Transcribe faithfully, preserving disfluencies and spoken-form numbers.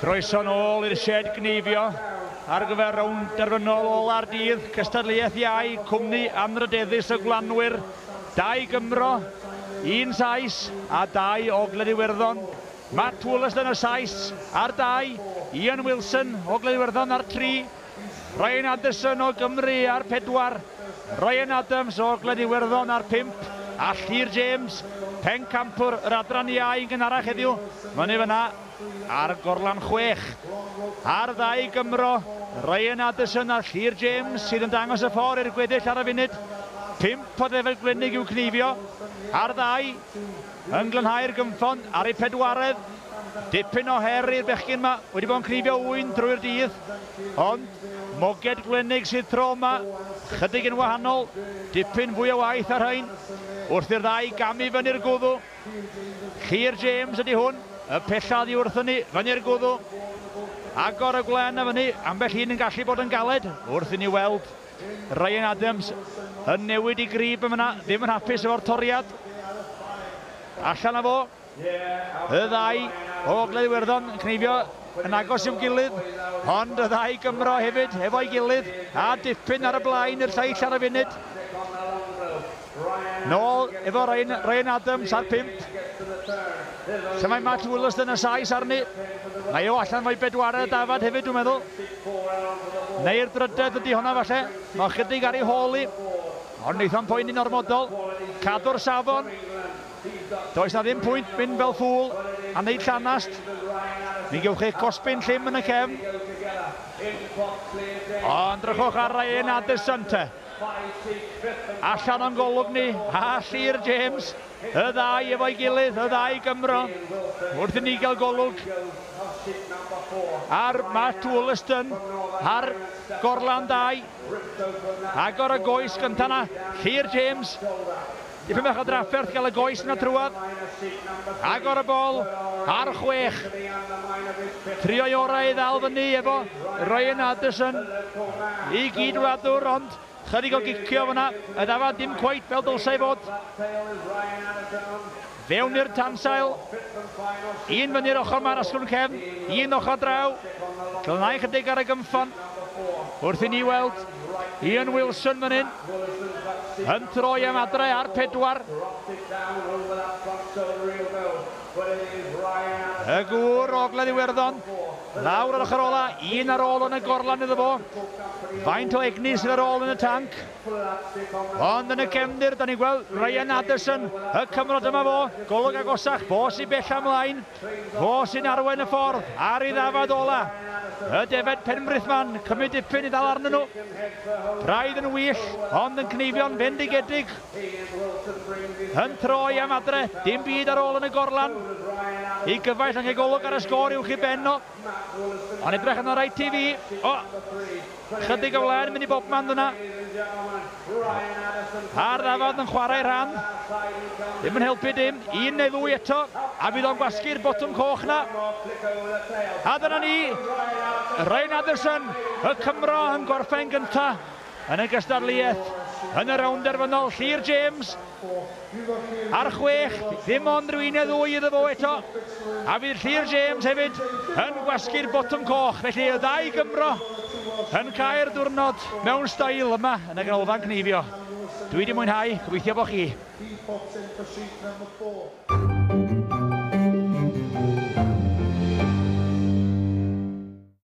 Croeso nôl i'r shed gneifio ar gyfer rownd derfynol ola'r dydd, cystadleuaeth iau, cwmni anrydeddus y Gwlanwyr, dau Gymro, un Sais a dau Ogledd Iwerddon. Matt Wollaston y Sais ar dau, Ian Wilson Ogledd Iwerddon ar tri, Ryan Anderson o Gymru ar pedwar, Ryan Adams o Ogledd Iwerddon ar pump, a Llyr James, pencampwr yr adran iau yn gynharach heddiw, fyny fyna ar gorlan chwech. Ar ddau Gymro, Ryan Addison a Llyr James sydd yn dangos y ffordd i'r gweddill ar y funud. Pump o ddefed Glenig i'w cneifio. Ar ddau, yn glanhau'r gymffon ar ei pedwaredd. Dipyn o her i'r bechgyn yma, wedi bod yn cneifio ŵyn drwy'r dydd. Ond moged Glenig sydd tro yma, chydig yn wahanol, dipyn fwy o waith ar rhain. Wrth i'r ddau gamu fyny'r gwddw. Llyr James ydy hwn, y pella oddi wrthyn ni, fyny'r gwddw. Agor y gwlen a fyny, ambell un yn gallu bod yn galed, wrth i ni weld Ryan Adams yn newid i grib yn fyna, ddim yn hapus efo'r toriad. Allan â fo, y ddau o Ogledd Iwerddon yn cneifio yn agos i'w gilydd, ond y ddau Gymro hefyd efo'i gilydd, a dipyn ar y blaen i'r lleill ar y funud. Nôl efo Ryan, Ryan Adams ar pump. Lle mae Matt Wollaston y Sais arni. Mae o allan fo'i bedwaredd dafad hefyd, dwi'n meddwl. Neu'r drydedd ydy hwnna falle. Mae chydig ar ei hôl i. Ond wneith o'n poeni'n ormodol. Cadw'r safon. Does na ddim pwynt mynd fel ffŵl a wneud llanast. Mi gewch chi cosbyn llym yn y cefn. Ond drychwch ar Ryan Addison te. Allan o'n golwg ni, a Llyr James, y ddau efo'i gilydd, y ddau Gymro, wrth i ni gael golwg ar Matt Wollaston, ar gorlan dau, agor y goes gynta na, Llyr James, dipyn bach o drafferth gael y goes yna trwad, agor y bol, ar chwech, trio'i orau i ddal fyny efo Ryan Addison, i gydwladwr, ond chydig o gicio fyna, y ddafad dim cweit fel dylsai fod. Fewn i'r tansail, un fyny'r ochr ma'r asgwrn cefn, un ochr draw, glanhau chydig ar y gymffon. Wrth i ni weld Ian Wilson fan hyn, yn troi am adre ar pedwar. Y gŵr o Ogledd Iwerddon, lawr ar ochr ola, un ar ôl yn y gorlan iddo fo. Faint o egni sydd ar ôl yn y tanc. Ond yn y cefndir, da ni'n gweld Ryan Addison, y Cymro dyma fo, golwg agosach, fo sy'n bell ymlaen, fo sy'n arwain y ffordd, ar ei ddafad ola. Y defed Penbrithman, cymryd dipyn i ddal arnyn nhw. Braidd yn wyll, ond yn cneifio'n fendigedig. Yn troi am adre, dim byd ar ôl yn y gorlan. I gyfaill yn golwg ar y sgôr uwch i ben o. Ond edrych yn reit i fi. O, chydig o flaen mynd i bobman dyna. A'r ddafad yn chwarae rhan. Ddim yn helpu dim. Un neu ddwy eto. A fydd o'n gwasgu'r botwm coch na. A dyna ni. Ryan Addison, y Cymro yn gorffen gynta yn y gystadleuaeth yn y rownd derfynol. Llyr James ar chwech, ddim ond rhyw un neu ddwy iddo fo eto. A fydd Llyr James hefyd yn gwasgu'r botwm coch. Felly y ddau Gymro yn cael diwrnod mewn stael yma yn y ganolfan cneifio. Dwi wedi mwynhau, gobeithio bod chi.